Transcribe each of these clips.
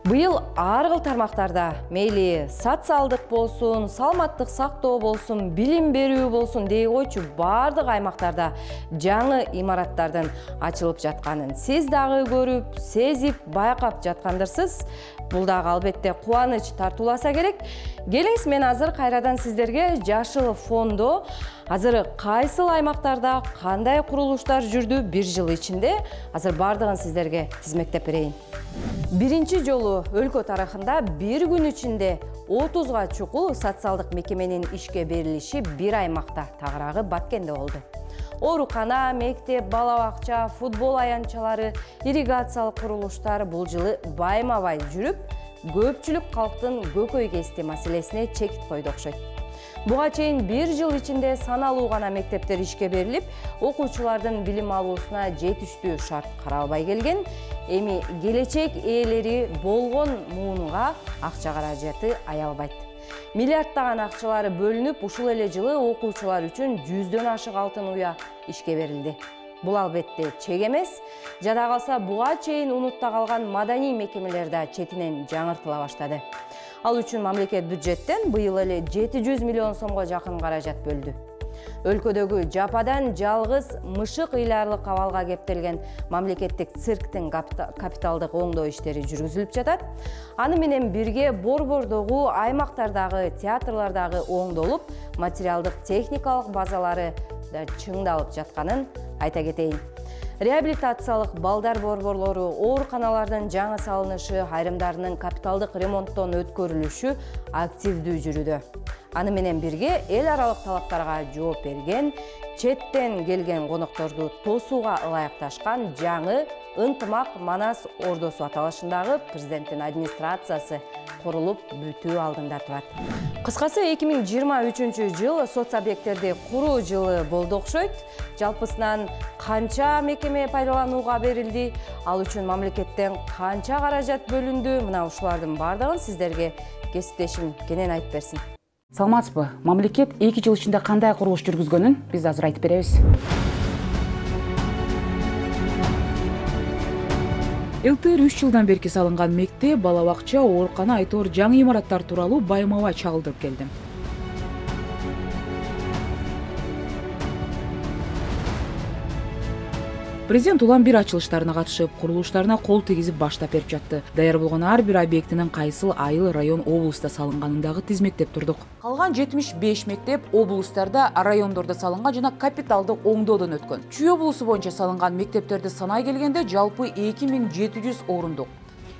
Быйыл ар кыл тармактарда мейли социалдык болсун, саламаттык сактоо болсун, билим берүү болсун дей койчу бардык аймактарда жаңы имараттардын ачылып жатканын сиз дагы көрүп, сезип, байкап жаткандырсыз. Бул дагы албетте кубаныч тартууласа керек. Келиңиз, мен азыр кайрадан сиздерге Жашыл фондо азыр кайсыл аймактарда кандай курулуштар жүрдү бир жыл ичинде, азыр бардыгын сиздерге тизмектеп берейин. Биринчи жолу өлкө тарыхында бир күн ичинде 30га чукул социалдык мекеменин ишке берилиши бир аймакта, тагыраагы Баткенде болду. Оорукана, мектеп, бала бакча, футбол аянтчалары, ирригациялык курулуштар бул жылы байма-бай жүрүп, көпчүлүк калктын көкөй кести маселесине чекит койду окшойт. Буга чейин бир жыл ичинде саналуу гана мектептер ишке берилип, окуучулардын билим алуусуна жетиштүү шарт каралбай келген. Эми келечек ээлери болгон муунга акча каражаты аялбайт. Миллиарддаган акчалары бөлүнүп, ушул эле жылы окуучулар үчүн 100дөн ашык алтын уя ишке берилди. Бул албетте чек эмес. Жада калса, буга чейин унутта калган маданий мекемелер да четинен жаңыртыла баштады. Ал үчүн мамлекет бюджеттен быйыл эле 700 миллион сомго жакын каражат бөлдү. Өлкөдөгү жападан жалгыз мышык ыйларлык абалга кептелген мамлекеттик цирктин капиталдык оңдоо иштери жүргүзүлүп жатат. Аны менен бирге борбордогу, аймактардагы, театрлардагы оңдолуп, материалдык техникалык базалары да чыңдалып жатканын айта кетейин. Реабилитациялык балдар борборлору, ооруканалардын жаңы салынышы, айрымдарынын капиталдык ремонттон өткөрүлүшү активдүү жүрүүдө. Аны менен бирге эл аралык талаптарга жооп берген, четтен келген конокторду тосууга ылайыкташкан жаңы Ынтымак Манас ордосу аталышындагы президенттин администрациясы курулуп бүтүү алдында турат. Кыскасы 2023 жыл соц объекттерди куруу жылы болду окшойт. Жалпысынан канча мекеме пайдаланууга берилди, ал үчүн мамлекеттен канча каражат бөлүндү, мына ушулардын бардыгын сиздерге кесиптешим Кенен айтып берсин. Саламатсызбы? Мамлекет 2 жыл ичинде кандай курулуш жүргүзгөнүн биз азыр айтып беребиз. ЛТР 3 жылдан берки салынган мектеп, бала бакча, оорукана айтор жаңы имараттар тууралуу байма-бай чагылдырып келди. Президент улам бир ачылыштарына катышып, курулуштарына кол тийгизип баштап берип жатты. Даяр болгон ар бир объектинин кайсыл айыл, район, облуста салынганын дагы тизмектеп турдук. Калган 75 мектеп облустарда, райондордо салынган жана капиталдык оңдоодон өткөн. Чүй облусу боюнча салынган мектептерди санай келгенде жалпы 2700 орундук.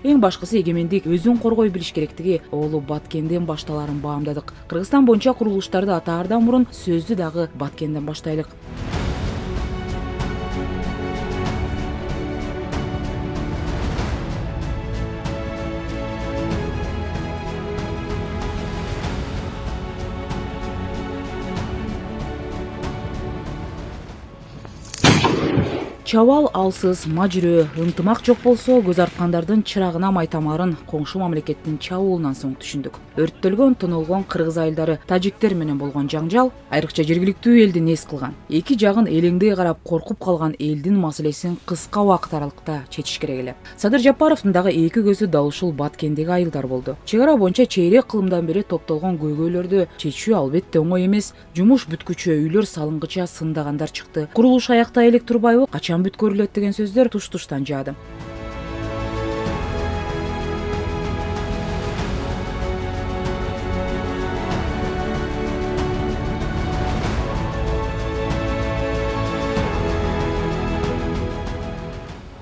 Эң башкысы эгемендик өзүн коргой билиш керектиги оолу Баткенден башталарын баамдадык. Кыргызстан боюнча курулуштарды атаардан мурун сөздү дагы Баткенден баштайлык. Чабал алсыз, мажүрөө, ынтымак жок болсо, көз арткандардын чырагына майтамарын коңшу мамлекеттин чабуулунан соң түшүндүк. Өрттөлгөн, тонолгон кыргыз айылдары, тажиктер менен болгон жаңжал айрыкча жергиликтүү элди нес кылган. Эки жагын элеңдей карап коркуп калган элдин маселесин кыска убакыт аралыкта чечиш керек эле. Садыр Жапаровдун дагы эки көзү дал ушул Баткендеги айылдар болду. Чек ара боюнча чейрек кылымдан бери топтолгон көйгөйлөрдү чечүү албетте оңой эмес. Жумуш бүткүчө үйлөр салынгыча сындагандар чыкты. Курулуш аяктай элек турбайбы? Качан бүткөрүлөт деген сөздөр туш-туштан жаады.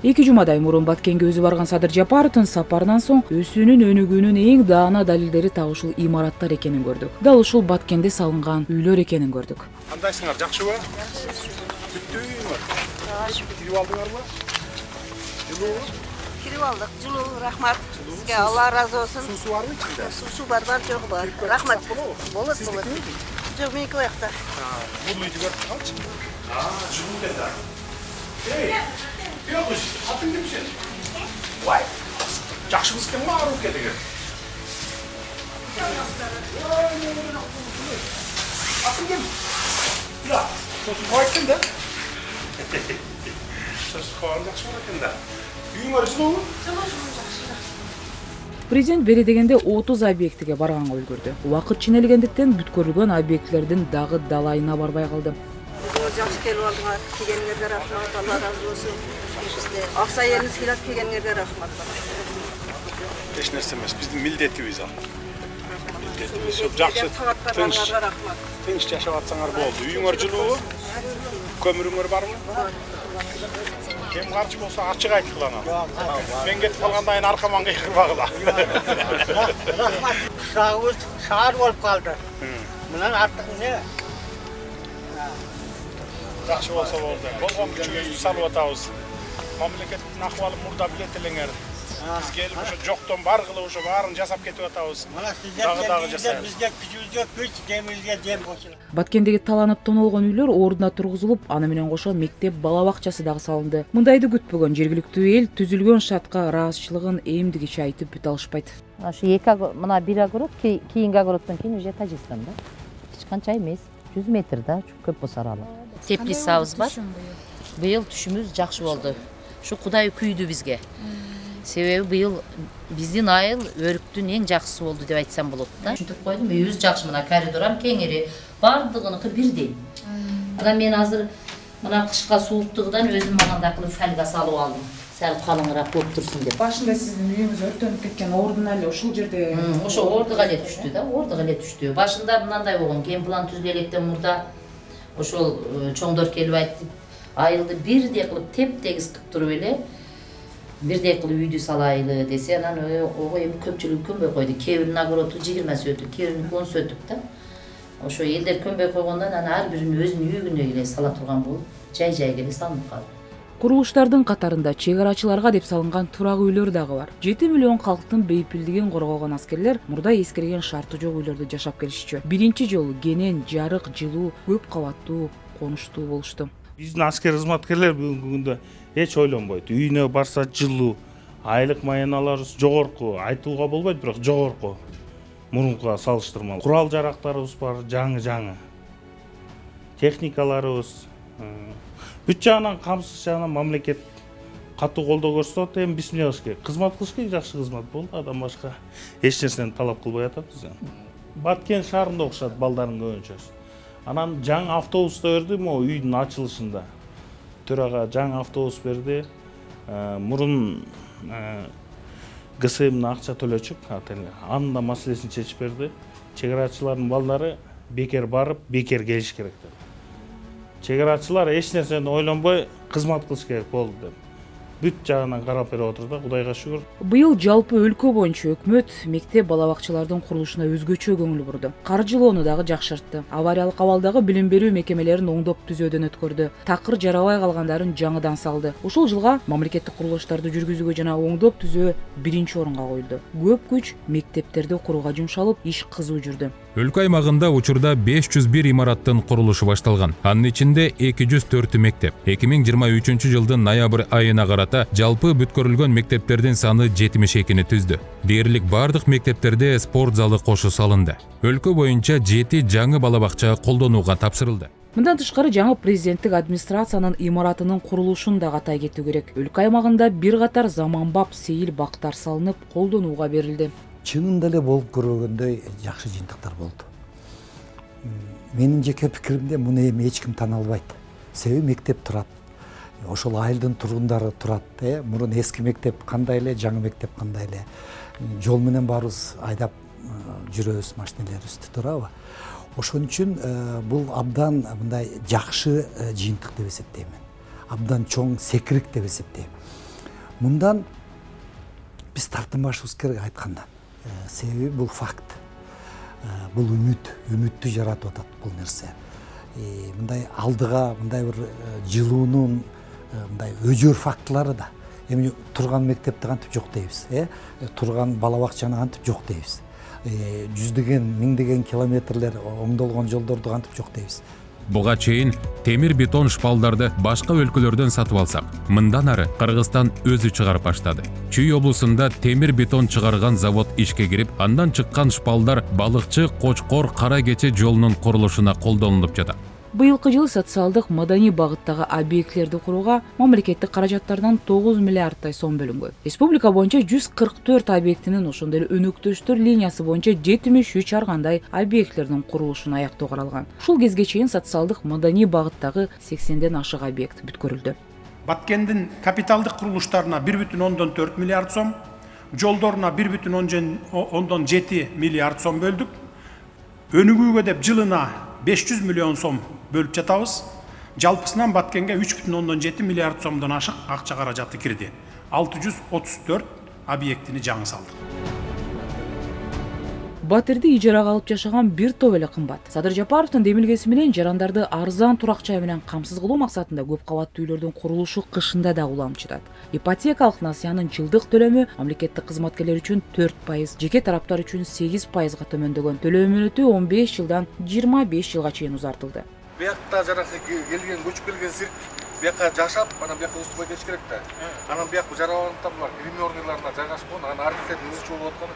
Эки жумадай мурун Баткенге өзү барган Садыр Жапаровдун сапарынан соң өсүүнүн өнүгүүнүн эң даана далилдери так ушул имараттар экенин көрдүк. Дал ушул Баткенде салынган үйлөр экенин көрдүк. Кандайсыңар, жакшыбы? Бүттүңөр. Кирип алдыңарбы? Жылуу? Кирип алдык. Жылуу, рахмат. Сизге Алла разы болсун. Суусу барбы ичинде? Суу бар, жок бар. Рахмат. Болот. Сиздикими? Жок, меники боякта. Бул үйдү көрүп калчы. Жылуу да. Эй, Бёкуш, атың ким сен? Вай. Жакшыбыз ким ары келген? Атың ким? Ja, sosu koydun da. Sosu koydun, жақсы болар екен да. Үйің бар жылу? Жылу жақсы. Президент бери дегенде 30 объектиге барганга үлгүрдү. Убакыт ченелгендиктен бүткөрүлгөн объектилердин дагы далайына барбай калды. Жакшы келип алдыңар. Келгениңерге рахмат. Алла разы болсун. Бизде акча элиңиз келип келгениңерге рахмат. Эч нерсе эмес. Биздин милдетибиз ал. Милдетибиз. Жакшы тынч жашап атсаңар болду. Үйүңөр жылуу? Көмүрүңөр барбы? Кем карчы болсо ачык айткыла анан. Мен кетип калгандан кийин аркаман кыйкырбагыла. Рахмат. Шагыбыз шаар болуп калды. Мындан артык эмне? Жакшы болсо болду. Болгон күчүбүздү салып атабыз. Мамлекеттин акыбалы мурда билет элеңер. Биз келип ошо жоктон бар кылып ошо баарын жасап кетип атабыз. Мына сиздер бизге күчүбүзгө күч, демибизге дем кошулат. Баткендеги таланып тонолгон үйлөр ордуна тургузулуп, аны менен кошо мектеп бала бакчасы дагы салынды. Мындайды күтпөгөн жергиликтүү эл түзүлгөн шартка ыраазычылыгын эмдигиче айтып бүтө алышпайт. Ошо мына бир огород, кийинки огороддон кийин уже Тажикстан да. Эч канча эмес, 100 метр да, көп болсо аралык. Теплицабыз бар. Быйыл түшүмүз жакшы болду. Ушу Кудай күйдү бизге. Себеби быйыл биздин айыл өрүктүн эң жакшысы болду деп айтсам болот да. Түшүнтүп койдум, үйүбүз жакшы, мына коридорам кеңири, бардыгыныкы бирдей. Анан мен азыр мына кышка сууктугунан өзүм магандай кылып фольга салып алдым. Сәл калыңыраак болуп турсун деп. Башында сиздин үйүңүз өрттөнүп кеткен ордун эле ушул жерде. Ошо ордуга эле түштү да, ордуга эле түштү. Башында мындай болгон, кен план түзүлө электен мурда ошол чоңдор келип айтты, айылды бирдей кылып теп-тегиз кылып туруп эле бирдей кылып үйдү салайлы десе, анан ого эми көпчүлүк көнбөй койду. Кээ биринин огороду 20 сөтүк, кээ биринин 10 сөтүк да. Ошо элдер көнбөй койгондон анан ар биринин өзүнүн үйүнө эле сала турган болуп, жай-жайга эле салынып калды. Курулуштардын катарында чек арачыларга деп салынган турак үйлөр дагы бар. 7 миллион калктын бейпилдигин коргогон аскерлер мурда эскирген шарты жок үйлөрдө жашап келишчү. Биринчи жолу кенен, жарык, жылуу, көп кабаттуу, конуштуу болушту. Биздин аскер кызматкерлер бүгүнкү күндө эч ойлонбойт. Үйүнө барса жылуу, айлык маяналарыбыз жогорку, айтууга болбойт, бирок жогорку. Мурункуга салыштырмалуу. Курал жарактарыбыз бар, жаңы. Техникаларыбыз бүт жагынан камсыз жагынан мамлекет катуу колдоо көрсөтөт. Эми биз эмне кылыш керек? Кызмат кылыш керек, жакшы кызмат болду. Адам башка эч нерсени талап кылбай атабыз. Баткен шаарында окшот балдардын көбүнчөсү. Анан жаңы автобус да берди, могу үйдүн ачылышында. Төрага жаңы автобус берди. Мурун ГСМдин акча төлөчүк, анын да маселесин чечип берди. Чек арачылардын балдары бекер барып, бекер келиш керек деп. Чек арачылар эч нерсени ойлонбой кызмат кылыш керек болду деп. Бүт жагынан карап берип отур да, Кудайга шүгүр. Быйыл жалпы өлкө боюнча өкмөт мектеп бала бакчалардын курулушуна өзгөчө көңүл бурду. Каржылоону дагы жакшыртты. Авариялык абалдагы билим берүү мекемелерин оңдоп түзөөдөн өткөрдү. Такыр жарабай калгандарын жаңыдан салды. Ушул жылга мамлекеттик курулуштарды жүргүзүүгө жана оңдоп түзөө биринчи орунга коюлду. Көп күч мектептерди курууга жумшалып, иш кызуу жүрдү. Өлкө аймагында учурда 501 имараттын курулушу башталган. Анын ичинде 204 мектеп. 2023 жылдын ноябрь айына карата жалпы бүткөрүлгөн мектептердин саны 72-ни түздү. Дээрлик бардык мектептерде спорт залы кошо салынды. Өлкө боюнча 7 жаңы бала бакча колдонууга тапшырылды. Мындан тышкары жаңы президенттик администрациянын имаратынын курулушун да катай кетүү керек. Өлкө аймагында бир катар заманбап сейил бактар салынып, колдонууга берилди. Чынында эле болуп көргөндөй жакшы жыйынтыктар болду. Менин жеке пикиримде муну эми эч ким тана албайт. Себеби мектеп турат. Ошол айылдын тургундары турат. Мурун эски мектеп кандай эле, жаңы мектеп кандай эле. Жол менен баарыбыз айдап жүрөбүз, машинелерибизди, туурабы? Ошон үчүн бул абдан мындай жакшы жыйынтык деп эсептейм. Абдан чоң секирик деп эсептейм. Мындан биз тартынбашыбыз керек айткандан. Себеби бул факт. Бул үмүттү жаратып атат бул нерсе. Мындай алдыга мындай бир жылуунун мындай өжөр фактылары да. Эми турган мектепти кантип жок дейбиз, турган бала бакчаны кантип жок дейбиз. Жүздөгөн, миңдеген километрлер оңдолгон жолдорду кантип жок дейбиз. Буга чейин темир бетон шпалдарды башка өлкөлөрдөн сатып алсак, мындан ары Кыргызстан өзү чыгарып баштады. Чүй облусунда темир бетон чыгарган завод ишке кирип, андан чыккан шпалдар балыкчы Кочкор Кара Кече жолунун курулушуна колдонулуп жатат. Быйылкы жылы социалдык маданий багыттагы объектилерди курууга мамлекеттик каражаттардан 9 миллиарддай сом бөлүнгөн. Республика боюнча 144 объектинин, ошондой эле өнөктөштөр линиясы боюнча 73 ар кандай объектилердин курулушун аяктоо каралган. Ушул кезге чейин социалдык маданий багыттагы 80ден ашык объект бүткөрүлдү. Баткендин капиталдык курулуштарына 1,4 миллиард сом, жолдоруна 1,7 миллиард сом бөлдүк. Өнүгүүгө деп жылына 500 миллион сом бөлүп жатабыз. Жалпысынан Баткенге 3,7 миллиард сомдон ашык акча каражаты кирди. 634 объектини жаңы салдык. Батирди ижарага алып жашаган бир топ эле кымбат. Садыр Жапаровдун демилгеси менен жарандарды арзан турак жай менен камсыз кылуу максатында көп кабаттуу үйлөрдүн курулушу кышында да уланып Ипотекалык насыянын жылдык төлөмү мамлекеттик кызматкерлер үчүн 4%, жеке тараптар үчүн 8%га төмөндөгөн. Төлөө мөөнөтү 15 жылдан 25 жылга чейин узартылды. Биякта жаракка келген, көчүп келген цирк биякка жашап, анан биякка устубай кетиш керек да. Анан биякка жараланып гримерныйларына жайгашкан, анан артисттердин өзү чогулуп аткан.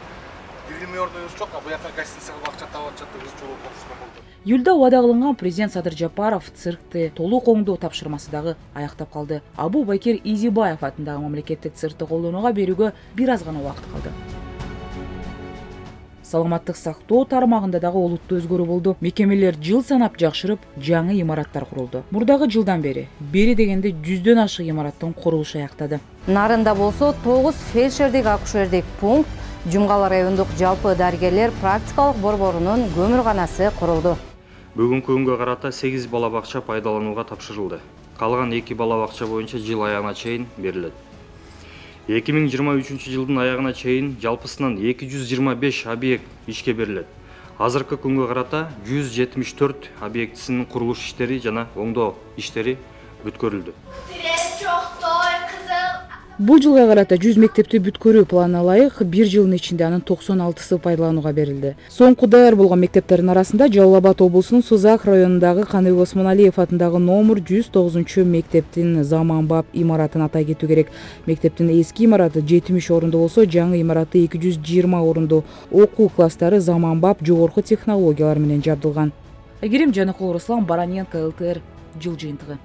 Июлда убада кылынган президент Садыр Жапаров циркти толук оңдоо тапшырмасы дагы аяктап калды. Абу Бакир Изибаев атындагы мамлекеттик циркти колдонууга берүүгө бир аз гана убакыт калды. Саламаттык сактоо тармагында дагы олуттуу өзгөрүү болду. Мекемелер жыл санап жакшырып, жаңы имараттар курулду. Мурдагы жылдан бери дегенде 100дөн ашык имараттын курулушу аяктады. Нарында болсо 9 фельдшердик акушердик пункт, Жумгал райондук жалпы дарыгерлер практикалык борборунун көмүрканасы курулду. Бүгүнкү күнгө карата 8 бала бакча пайдаланууга тапшырылды. Калган 2 бала бакча боюнча жыл аягына чейин берилет. 2023 жылдын аягына чейин жалпысынан 225 объект ишке берилет. Азыркы күнгө карата 174 объектисинин курулуш иштери жана оңдоо иштери бүткөрүлдү. Бул жылга карата 100 мектепти бүткөрүү планына ылайык 1 жылдын ичинде анын 96сы пайдаланууга берилди. Соңку даяр болгон мектептердин арасында Жалал Абад облусунун Сузак районундагы Каныбек Осмоналиев атындагы номер 109 мектептин заманбап имаратын атай кетүү керек. Мектептин эски имараты 70 орунду болсо, жаңы имараты 220 орунду. Окуу класстары заманбап жогорку технологиялар менен жабдылган. Айгерим Жаныкул, Руслан Бараненко, ЛТР, жыл жыйынтыгы.